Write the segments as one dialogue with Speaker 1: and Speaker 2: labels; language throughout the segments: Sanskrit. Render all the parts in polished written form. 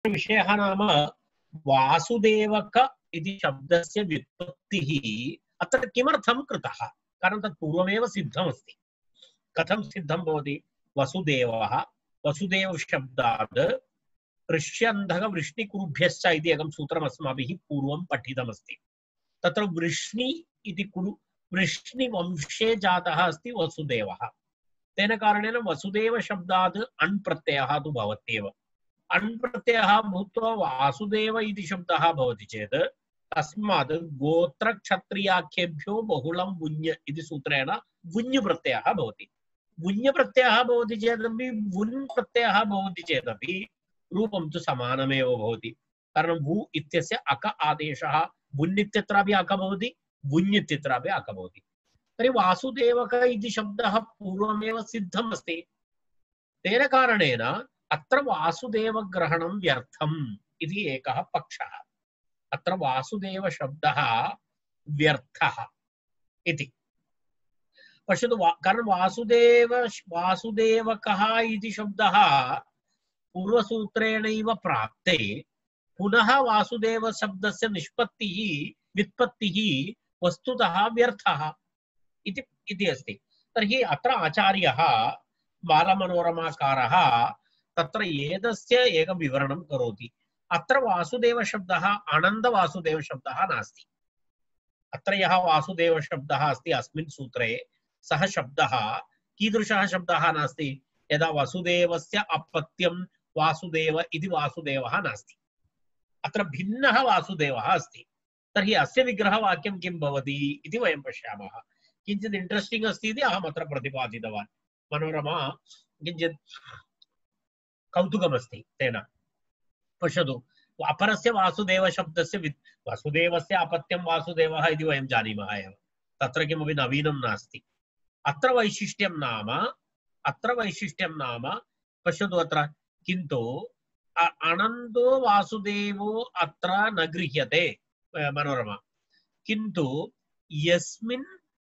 Speaker 1: विषयः नाम वासुदेवक इति शब्दस्य व्युत्पत्तिः अत्र किमर्थं कृतः? कारणं तत् पूर्वमेव सिद्धमस्ति। कथं सिद्धं भवति? वसुदेवः, वसुदेव शब्दात् ऋष्यन्धक वृष्णिकुरुभ्यश्च इति एकं सूत्रम् अस्माभिः पूर्वं पठितमस्ति। तत्र वृष्णि इति कुरु वृष्णिवंशे जातः अस्ति वसुदेवः। तेन कारणेन वसुदेव शब्दात् अण् प्रत्ययः तु भवत्येव। अण् प्रत्ययः भूत्वा वासुदेव इति शब्दः भवति चेत् तस्मात् गोत्रक्षत्रियाख्येभ्यो बहुलं वुञ् इति सूत्रेण वुञ् प्रत्ययः भवति। वुञ् प्रत्ययः भवति चेदपि वुन् प्रत्ययः भवति चेदपि रूपं तु समानमेव भवति। कारणं वु इत्यस्य अक आदेशः वुन् इत्यत्रापि अक भवति, वुञ् इत्यत्रापि अक भवति। तर्हि वासुदेवक इति शब्दः पूर्वमेव सिद्धम् अस्ति। तेन कारणेन अत्र वासुदेवग्रहणं व्यर्थम् इति एकः पक्षः। अत्र वासुदेव शब्दः व्यर्थः इति पश्यतु। कारण वासुदेवकः इति शब्दः पूर्वसूत्रेणैव प्राप्ते पुनः वासुदेव शब्दस्य व्युत्पत्तिः वस्तुतः व्यर्थः इति अस्ति। तर्हि अत्र आचार्यः बालमनोरमाकारः तत्र एतस्य एकं विवरणं करोति। अत्र वासुदेव शब्दः आनन्दवासुदेव शब्दः नास्ति। अत्र यः वासुदेव शब्दः अस्ति अस्मिन् सूत्रे सः शब्दः कीदृशः शब्दः नास्ति? यदा वसुदेवस्य अपत्यं वासुदेव इति वासुदेवः नास्ति। अत्र भिन्नः वासुदेवः अस्ति। तर्हि अस्य विग्रहवाक्यं किं भवति इति वयं पश्यामः। किञ्चित् इण्ट्रेस्टिङ्ग् अस्ति इति अहम् अत्र प्रतिपादितवान्। मनोरमा किञ्चित् कौतुकमस्ति तेन। पश्यतु, अपरस्य वासुदेव शब्दस्य वसुदेवस्य अपत्यं वासुदेवः इति वयं जानीमः एव, तत्र किमपि नवीनं नास्ति। अत्र वैशिष्ट्यं नाम पश्यतु अत्र किन्तु अनन्तो वासुदेवो अत्र न गृह्यते मनोरमा। किन्तु यस्मिन्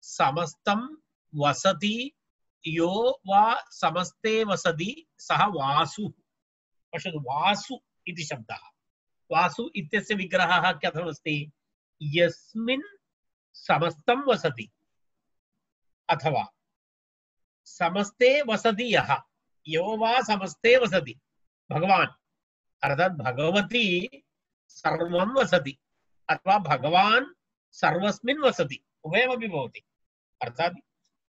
Speaker 1: समस्तं वसति यो वा समस्ते वसति सः वासु। पश्यतु, वासु इति शब्दः, वासु इत्यस्य विग्रहः कथमस्ति? यस्मिन् समस्तं वसति अथवा समस्ते वसति यः, यो वा समस्ते वसति, भगवान् अर्थात् भगवती सर्वं वसति अथवा भगवान् सर्वस्मिन् वसति, उभयमपि भवति। अर्थात्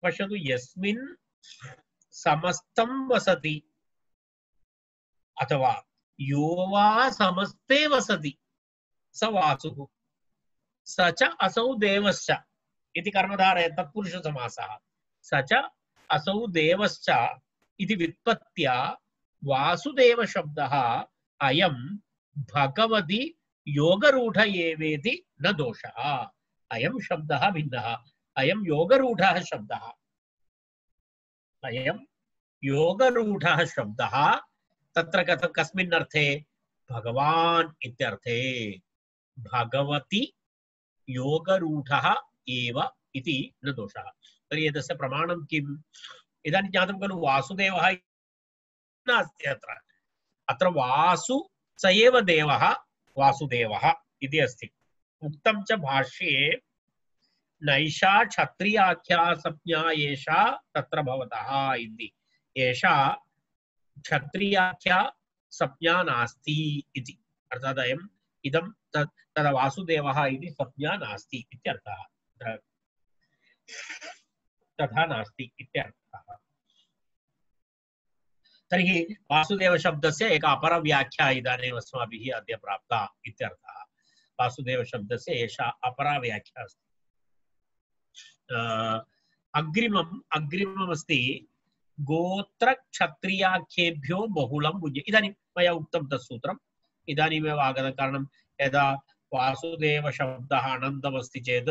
Speaker 1: पश्यतु, यस्मिन् समस्तं वसति अथवा यो वा समस्ते वसति स वासुः, स च असौ देवश्च इति कर्मधारय तत्पुरुषसमासः। स च असौ देवश्च इति व्युत्पत्त्या वासुदेव शब्दः अयं भगवति योगरूढ एवेति न दोषः। अयं शब्दः भिन्नः, अयं योगरूढः शब्दः, अयं योगरूढः शब्दः। तत्र कस्मिन् अर्थे? भगवान् इत्यर्थे। भगवति योगरूढः एव इति न दोषः। तर्हि एतस्य प्रमाणं किम्? इदानीं ज्ञातं खलु, वासुदेवः नास्ति अत्र। अत्र वासु स एव देवः वासुदेवः इति अस्ति। उक्तं च भाष्ये नैषा क्षत्रियाख्या संज्ञा एषा तत्र भवतः इति। एषा क्षत्रियाख्या संज्ञा नास्ति इति। अर्थात् इदं तदा वासुदेवः इति संज्ञा नास्ति इत्यर्थः। तथा नास्ति इत्यर्थः। तर्हि वासुदेव शब्दस्य एक अपरव्याख्या इदानीम् अस्माभिः अद्य प्राप्ता इत्यर्थः। वासुदेव शब्दस्य एषा अपरा व्याख्या अस्ति। अग्रिममस्ति गोत्रक्षत्रियाख्येभ्यो बहुलं भुज्य। इदानीं मया उक्तं तत् सूत्रम् इदानीमेव आगतं। कारणं यदा वासुदेव शब्दः अनन्तमस्ति चेत्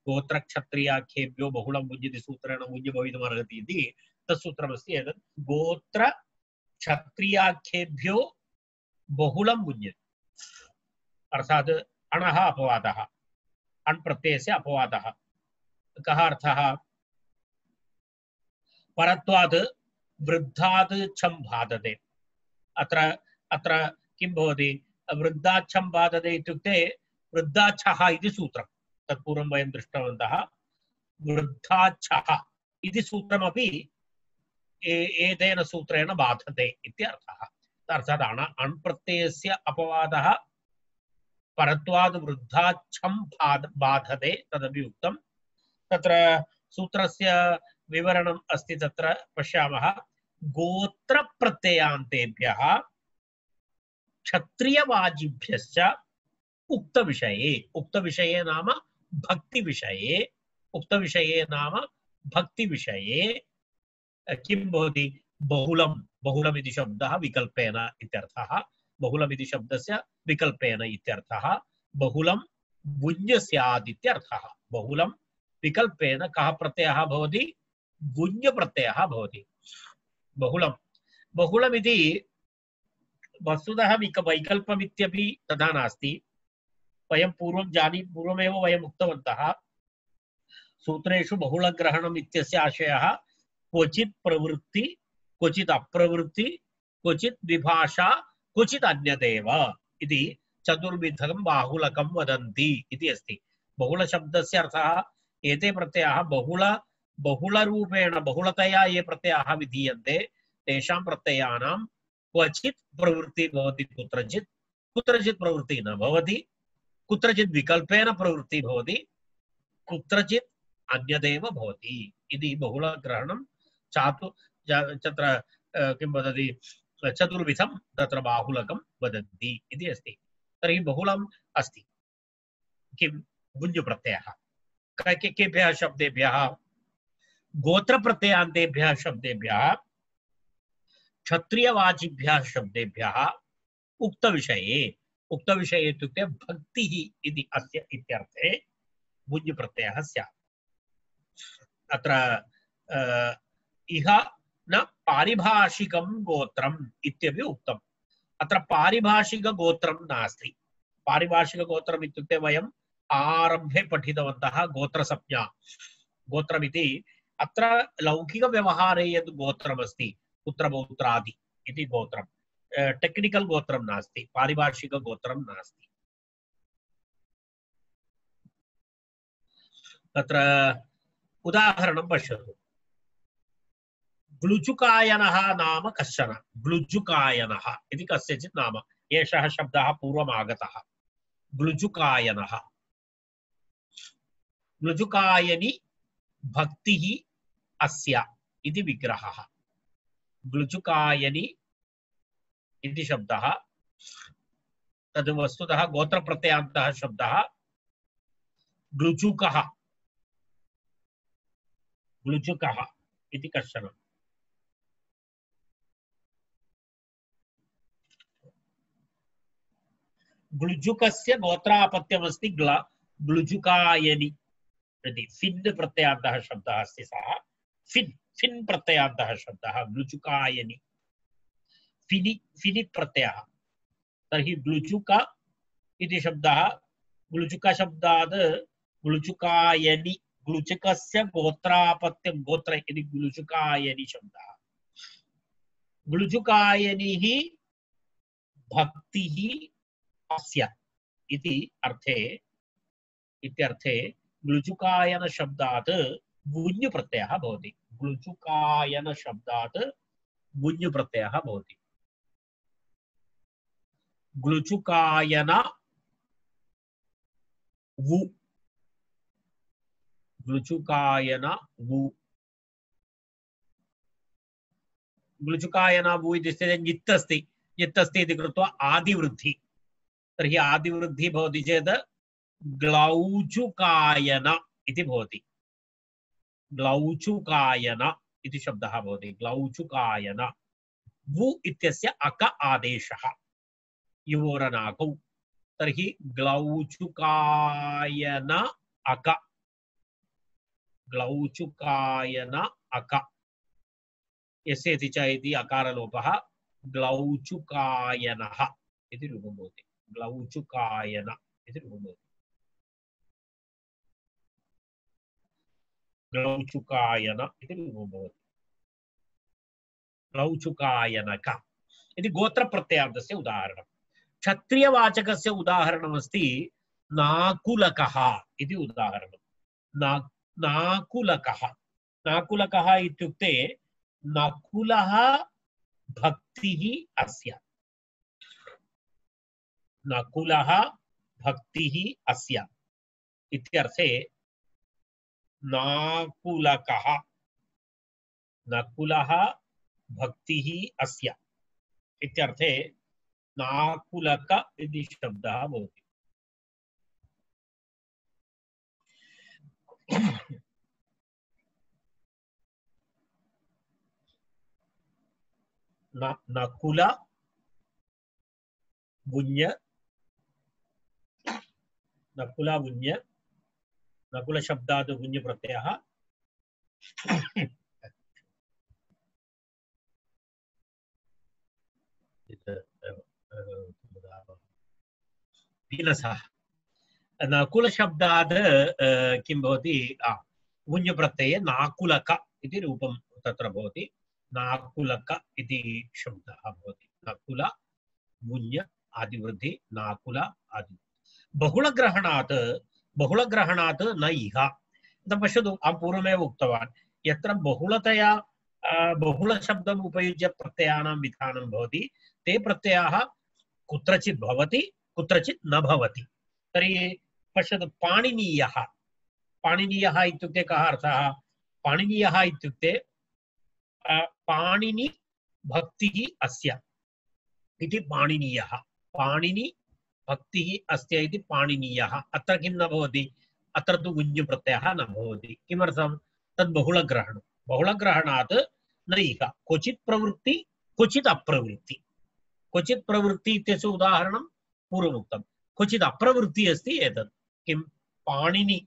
Speaker 1: गोत्रक्षत्रियाख्येभ्यो बहुलं भुज्यति सूत्रेण भुज्य भवितुमर्हति इति तत् सूत्रमस्ति। एतत् गोत्रक्षत्रियाख्येभ्यो बहुलं भुज्यति, अर्थात् अणः अपवादः, अण् प्रत्ययस्य अपवादः। कः अर्थः? परत्वात् वृद्धात् छं बाधते। अत्र किं भवति वृद्धाच्छं बाधते इत्युक्ते वृद्धाच्छः इति सूत्रं तत्पूर्वं वयं दृष्टवन्तः वृद्धाच्छः इति सूत्रमपि एतेन सूत्रेण बाधते इत्यर्थः अर्थात् अण्प्रत्ययस्य अपवादः परत्वाद् वृद्धाच्छं बाधते तदपि उक्तं तत्र सूत्रस्य विवरणम् अस्ति तत्र पश्यामः गोत्रप्रत्ययान्तेभ्यः क्षत्रियवाजिभ्यश्च उक्तविषये नाम भक्तिविषये किं भवति बहुलम् इति शब्दः विकल्पेन इत्यर्थः बहुलमिति शब्दस्य विकल्पेन इत्यर्थः बहुलं गुञ् स्यात् इत्यर्थः बहुलं विकल्पेन कः प्रत्ययः भवति गुञ् प्रत्ययः भवति बहुलमिति वस्तुतः वैकल्पमित्यपि तथा नास्ति वयं पूर्वमेव वयम् उक्तवन्तः सूत्रेषु बहुलग्रहणम् इत्यस्य आशयः क्वचित् प्रवृत्ति क्वचित् अप्रवृत्ति क्वचित् विभाषा क्वचित् अन्यदेव इति चतुर्विधं बाहुलकं वदन्ति इति अस्ति बहुलशब्दस्य अर्थः एते प्रत्ययाः बहुलरूपेण बहुलतया ये प्रत्ययाः विधीयन्ते तेषां प्रत्ययानां क्वचित् प्रवृत्तिः भवति कुत्रचित् प्रवृत्तिः न भवति कुत्रचित् विकल्पेन प्रवृत्तिः भवति कुत्रचित् अन्यदेव भवति इति बहुलग्रहणं तत्र किं वदति चतुर्विधं तत्र बाहुलकं वदन्ति इति अस्ति तर्हि बहुलम् अस्ति किं गुञ् प्रत्ययः केभ्यः शब्देभ्यः गोत्रप्रत्ययान्तेभ्यः शब्देभ्यः क्षत्रियवाचिभ्यः शब्देभ्यः उक्तविषये इत्युक्ते भक्तिः इति अस्य इत्यर्थे गुञ् प्रत्ययः स्यात् अत्र इह न पारिभाषिकं गोत्रम् इत्यपि उक्तम् अत्र पारिभाषिकगोत्रं नास्ति पारिभाषिकगोत्रम् इत्युक्ते वयम् आरम्भे पठितवन्तः गोत्रसंज्ञा गोत्रमिति अत्र लौकिकव्यवहारे यद् गोत्रमस्ति पुत्रपौत्रादि इति गोत्रं टेक्निकल गोत्रं नास्ति पारिभाषिकगोत्रं नास्ति तत्र उदाहरणं पश्यतु ग्लुचुकायनः नाम कश्चन ग्लुचुकायनः इति कस्यचित् नाम एषः शब्दः पूर्वम् आगतः ग्लुचुकायनः ग्लुचुकायनि भक्तिः अस्य इति विग्रहः ग्लुचुकायनि इति शब्दः तद् वस्तुतः गोत्रप्रत्ययान्तः शब्दः ग्लुचुकः इति कश्चन ग्लुजुकस्य गोत्रापत्यमस्ति ग्लुजुकायनि इति फिन् प्रत्ययान्तः शब्दः अस्ति सः फिन् प्रत्ययान्तः शब्दः ग्लुजुकायनि फिनि प्रत्ययः तर्हि ग्लुचुक इति शब्दः ग्लुचुकशब्दात् ग्लुचुकायनि ग्लुचुकस्य गोत्रापत्यं गोत्र इति ग्लुचुकायनि शब्दः ग्लुचुकायनिः भक्तिः अस्य इति अर्थे इत्यर्थे ग्लुचुकायन शब्दात् गुञ् प्रत्ययः भवति ग्लुचुकायन शब्दात् गुञ् प्रत्ययः भवति ग्लुचुकायन वु ग्लुचुकायन वु ग्लुचुकायन वु इति स्थिते ञित् अस्ति इति कृत्वा आदिवृद्धि तर्हि आदिवृद्धि भवति चेत् ग्लौचुकायन इति भवति ग्लौचुकायन इति शब्दः भवति ग्लौचुकायन वु इत्यस्य अक आदेशः युवोरनाकौ तर्हि ग्लौचुकायन अक ग्लौचुकायन अक यस्येति च इति अकारलोपः ग्लौचुकायनः इति रूपं भवति ग्लौचुकायन इति रूपं भवति ग्लौचुकायन इति रूपं भवति ग्लौचुकायनक इति गोत्रप्रत्ययान्तस्य उदाहरणं क्षत्रियवाचकस्य उदाहरणमस्ति नाकुलकः इति उदाहरणं। नाकुलकः नाकुलकः इत्युक्ते नकुलः भक्तिः अस्य। नकुलः भक्तिः अस्य इत्यर्थे नाकुलकः नकुलः भक्तिः अस्य इत्यर्थे नाकुलक इति शब्दः भवति। नकुल गुञ्य नकुल गुञ्य नकुल शब्दात् गुञ्य प्रत्ययः दीनसः नकुल शब्दात् किं भवति गुञ्य प्रत्यये नाकुलक इति रूपं तत्र भवति। नाकुलक इति शब्दः भवति। नकुल गुञ्य आदिवृद्धि नाकुल आदि बहुलग्रहणात् न इह। पश्यतु अहं पूर्वमेव उक्तवान् यत्र बहुलतया बहुलशब्दम् उपयुज्य प्रत्ययानां विधानं भवति ते प्रत्ययाः कुत्रचित् भवति कुत्रचित् न भवति। तर्हि पश्यतु पाणिनीयः पाणिनीयः इत्युक्ते कः अर्थः? पाणिनीयः इत्युक्ते पाणिनि भक्तिः अस्य इति पाणिनीयः। पाणिनि भक्तिः अस्य इति पाणिनीयः। अत्र किं न भवति? अत्र तु गुञ् प्रत्ययः न भवति। किमर्थं? तद् बहुलग्रहणं। बहुलग्रहणात् न इह। क्वचित् प्रवृत्ति क्वचित् अप्रवृत्ति। क्वचित् प्रवृत्ति इत्यस्य उदाहरणं पूर्वमुक्तं। क्वचित् अप्रवृत्ति अस्ति एतत् किं? पाणिनि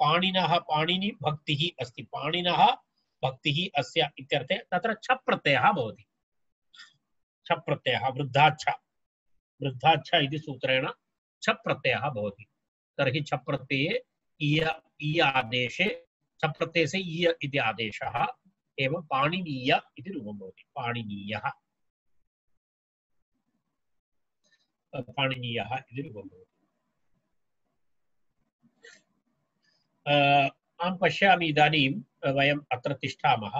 Speaker 1: पाणिनः पाणिनि भक्तिः अस्ति। पाणिनः भक्तिः अस्य इत्यर्थे तत्र छ प्रत्ययः भवति। छ प्रत्ययः वृद्धाच्छ इति सूत्रेण छ प्रत्ययः भवति। तर्हि छ प्रत्यये इ आदेशे छ प्रत्ययस्य इ इति आदेशः एवं पाणिनीय इति रूपं भवति। पाणिनीयः इति रूपं भवति। अहं पश्यामि इदानीं वयम् अत्र तिष्ठामः।